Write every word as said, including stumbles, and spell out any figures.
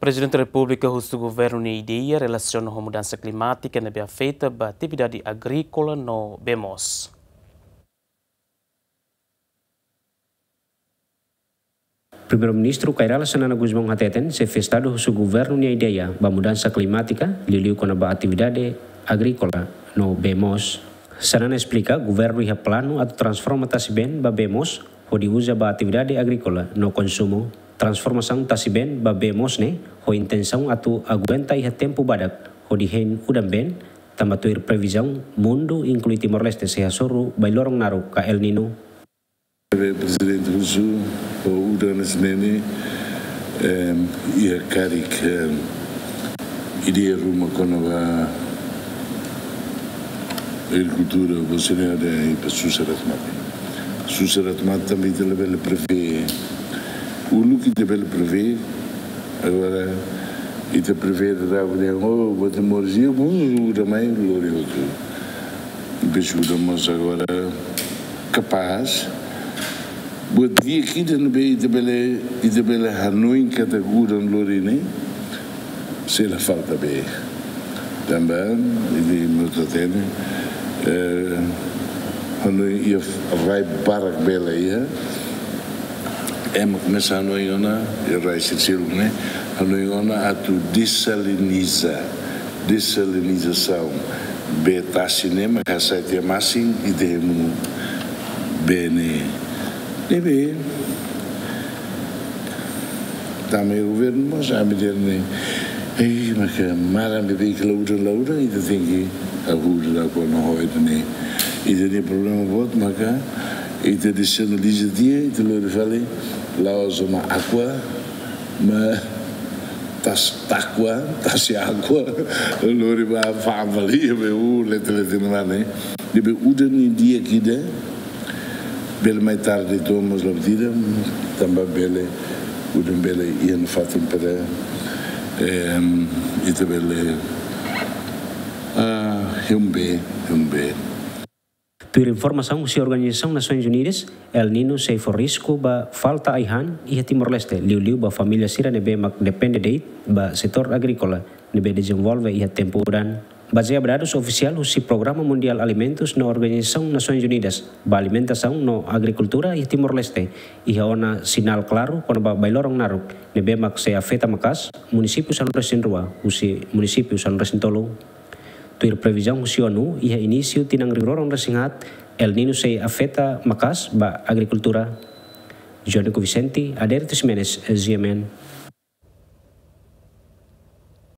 Prezidente Repúblika husu governu nia ideia relasiona ho mudansa klimátika ne'ebé afeta ba atividade agríkola no bee moos. Primeiru-Ministru Kay Rala Xanana Gusmão hateten, Xefe Estadu husu governu nia ideia ba mudansa klimátika, liuliu kona-ba atividade agríkola no bee moos. Xanana esplika, governu iha planu atu transforma tasi-been ba bee moos, hodi uza ba atividade agríkola no konsumu. Transformasaun tasi-been ba bee moos ne'e ho intensaun atu aguenta iha tempu badak, hodi hein udan-been, tanba tuir previzaun mundu, inklui Timor-Leste, sei hasoru bailoron naruk ka El Niño. Prezidente husu, o udan ne'e, em, iha karik, em, ideia ruma kona-ba agrikultura, ba sira-ne'e, ita susar atu mate. Susar atu mate tanba ita labele prevee. Uluk ita bele prevee, agora ita prevee, ita bele, oh, buat moris, bom, udan mai lori hotu. Bes udan mós agora kapás. Buat di'ak ida ne'ebé ita bele, ita bele hanoin katak udan lori ne'e, sei la falta bee. Tanba, ita mós hatene, eh, hanoin iha rai barak bee la iha, ema komesa hanoin ona, iha rai sira seluk ne'e, hanoin ona atu desaliniza, desalinizasaun. Bee tasi ne'e mak hasai tiha masin, ita hemu bee ne'e. Ne'ebé, tama iha governu mós, ami dehan ne'e, ei, maka maran beibeik la udan, la udan, ita tenke ahur da kona ho ida-ne'e. Ita-nia problema boot maka ita desaliniza tiha, ita lori fali, la'ós ona Aqua, maibé tasi Aqua, tasi Aqua, lori ba fa'an fali, be u lete lete na mane. Ne'ebé udan ne'e di'ak ida, bele mai tarde to'o mós la buat ida, tanba bele, udan bele iha nafatin para, em, ita bele, ah, hemu bee, hemu bee. Tuir informasaun husi Organizasaun Nasoins Unidas, El Niño sei fó risku ba falta ai-han iha Timor-Leste, liuliu ba família sira ne'ebé mak depende de'it ba setór agríkola ne'ebé dezenvolve iha tempu udan. Bazeia ba dadus ofisiál husi Programa Mundiál Alimentus no Organizasaun Nasoins Unidas ba Alimentasaun no Agrikultura iha Timor-Leste, iha ona sinál klaru kona-ba bailoron naruk ne'ebé mak sei afeta maka'as munisípiu sanulu-resin-rua husi munisípiu sanulu-resin-tolu. Tuir previzaun husi ONU, iha inísiu tinan rihun rua ruanulu-resin-haat, El Niño sei afeta maka'as ba agrikultura. Jônico Vicente, Adérito Ximenes, G M N.